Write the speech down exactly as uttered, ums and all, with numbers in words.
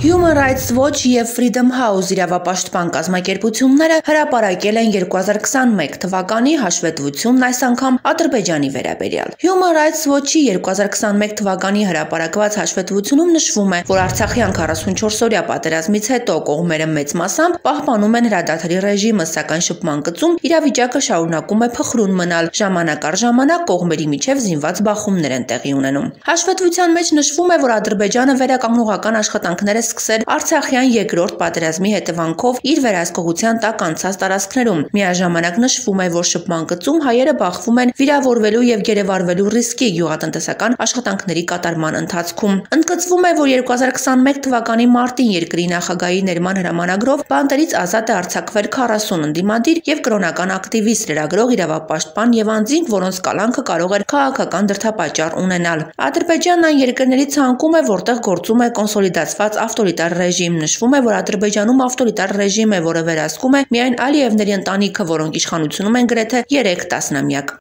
Human Rights Watch և Freedom House իրավապաշտպան կազմակերպությունները հրապարակել են երկու հազար քսաներկու թվականի հաշվետվությունն այս անգամ Ադրբեջանի վերաբերյալ։ Human Rights Watch-ի երկու հազար քսաներկու թվականի հրապարակված հաշվետվությունում նշվում է, որ Արցախյան քառասունչորս-օրյա պատերազմից հետո կողմերը մեծ մասամբ պահպանում են հրադադարի ռեժիմը, սակայն շփման գծում իրավիճակը շարունակում է փխրուն մնալ, ժամանակ առ ժամանակ կողմերի միջև զինված բախումներ են տեղի ունենում։ Հաշվետվության մեջ նշվում է, որ Ադրբեջանը վերականգնողական աշխատանքներ է սկսել Արցախյան երկրորդ պատերազմի հետևանքով իր վերահսկողության տակ անցած տարածքներում։ Միաժամանակ նշվում է, որ շփման գծում հայերը բախվում են վիրավորվելու եւ գերեվարվելու ռիսկի գյուղատնտեսական աշխատանքների կատարման ընթացքում։ Ընդգծվում է, որ երկու հազար քսաներկու թվականի մարտին երկրի նախագահի ներման հրամանագրով բանտերից ազատ է արձակվել քառասուն ընդդիմադիր եւ կրոնական ակտիվիստ, լրագրող, իրավապաշտպան եւ անձինք, որոնց կալանքը կարող էր քաղաքական դրդապատճառ ունենալ։ Ադրբեջանն այն երկրների ցանկում է, որտեղ գործում է կոնսոլիդացված ավտորիտար ռեժիմ։ Նշվում է, որ Ադրբեջանում ավտորիտար ռեժիմ է, որը վերահսկում է միայն Ալիևների ընտանիքը, որոնք իշխանությունում են գրեթե երեք տասնամյակ։